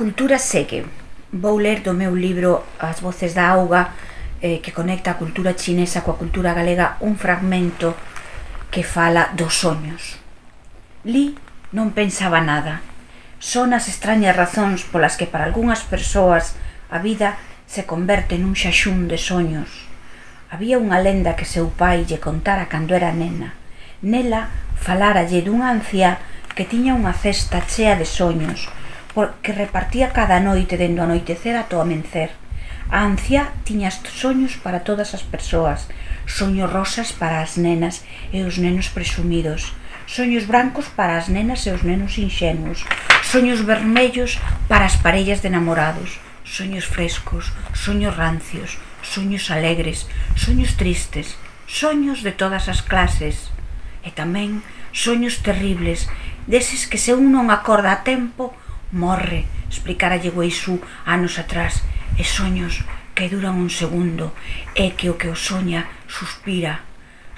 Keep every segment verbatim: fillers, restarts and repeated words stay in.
cultura segue. Vou ler do meu libro As voces da auga, eh, que conecta a cultura chinesa coa cultura galega, un fragmento que fala dos soños. Li non pensaba nada. Son as extrañas razóns polas que para algunhas persoas a vida se converte nun xaxún de soños. Había unha lenda que seu pai lle contara cando era nena. Nela faláralle dunha anciá que tiña unha cesta chea de soños, porque repartía cada noite dende o anoitecer ata o amencer. A anciá tiña soños para todas as persoas, soños rosas para as nenas e os nenos presumidos, soños brancos para as nenas e os nenos inxenuos, soños vermellos para as parellas de namorados, soños frescos, soños rancios, soños alegres, soños tristes, soños de todas as clases, e tamén soños terribles, deses que se un non acorda a tempo, morre, explicara-lle Weisú anos atrás, e soños que duran un segundo, e que o que o soña suspira.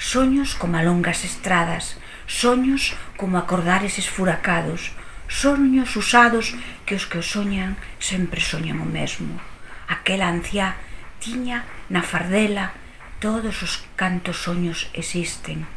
Soños como longas estradas, soños como acordares esfuracados, soños usados que os que o soñan sempre soñan o mesmo. Aquela anciá tiña na fardela todos os cantos soños existen.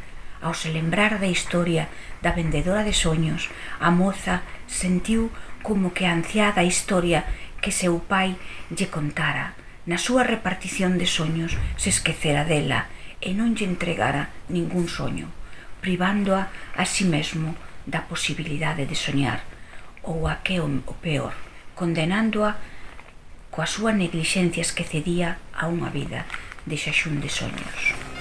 Ao se lembrar da historia da vendedora de soños, a moza sentiu como que a anciá da historia que seu pai lle contara na súa repartición de soños se esquecera dela e non lle entregara ningún soño, privándoa a si mesmo da posibilidade de soñar, ou a que o peor, condenándoa coa súa neglixencia esquecedía a unha vida de xaxún de soños.